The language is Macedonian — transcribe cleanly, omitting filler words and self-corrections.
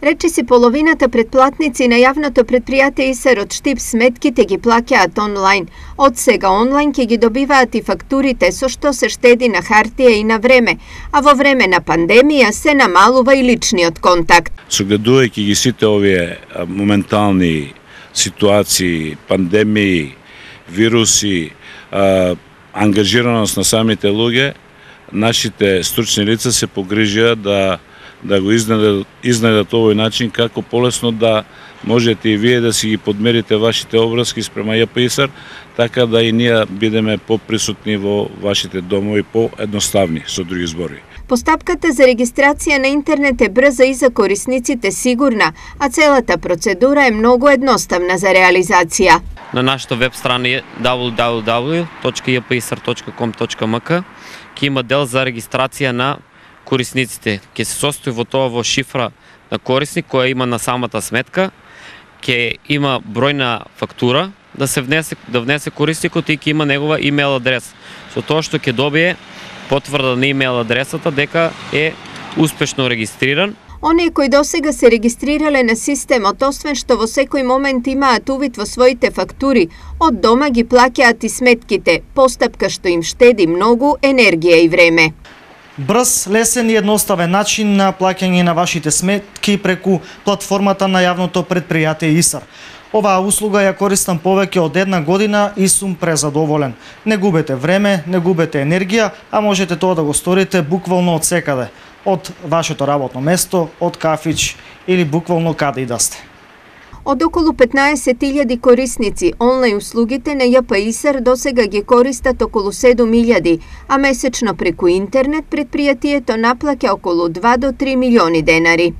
Речиси половината претплатници на јавното предпријатие ИСАР од Штип сметките ги плаќаат онлайн. Од сега онлайн ќе ги добиваат и фактурите, со што се штеди на хартија и на време, а во време на пандемија се намалува и личниот контакт. Согледувајќи ги сите овие моментални ситуации, пандемии, вируси, ангажираност на самите луѓе, нашите стручни лица се погрижија да го изнайдат овој начин како полесно да можете и вие да си ги подмерите вашите обврски спрема ЈП ИСАР, така да и ние бидеме поприсутни во вашите домови, поедноставни, со други збори. Постапката за регистрација на интернет е брза и за корисниците сигурна, а целата процедура е многу едноставна за реализација. На нашата веб страна www.jpisar.com.mk ќе има дел за регистрација на корисниците. Ќе се состои во тоа во шифра на корисник која има на самата сметка, ќе има број на фактура да внесе корисникот и ќе има негова имейл адрес. Со тоа што ќе добие потврда на имейл адресата дека е успешно регистриран. Оние кои досега се регистрирале на системот, освен што во секој момент имаат увид во своите фактури, од дома ги плаќаат и сметките, постапка што им штеди многу енергија и време. Брз, лесен и едноставен начин на плаќање на вашите сметки преку платформата на јавното предпријатие ИСАР. Оваа услуга ја користам повеќе од една година и сум презадоволен. Не губете време, не губете енергија, а можете тоа да го сторите буквално од секаде. Од вашето работно место, од кафич или буквално каде и да сте. Од околу 15.000 корисници, онлайн услугите на ЈП ИСАР досега ги користат околу 7.000, а месечно преку интернет предпријатието наплаќа околу 2 до 3 милиони денари.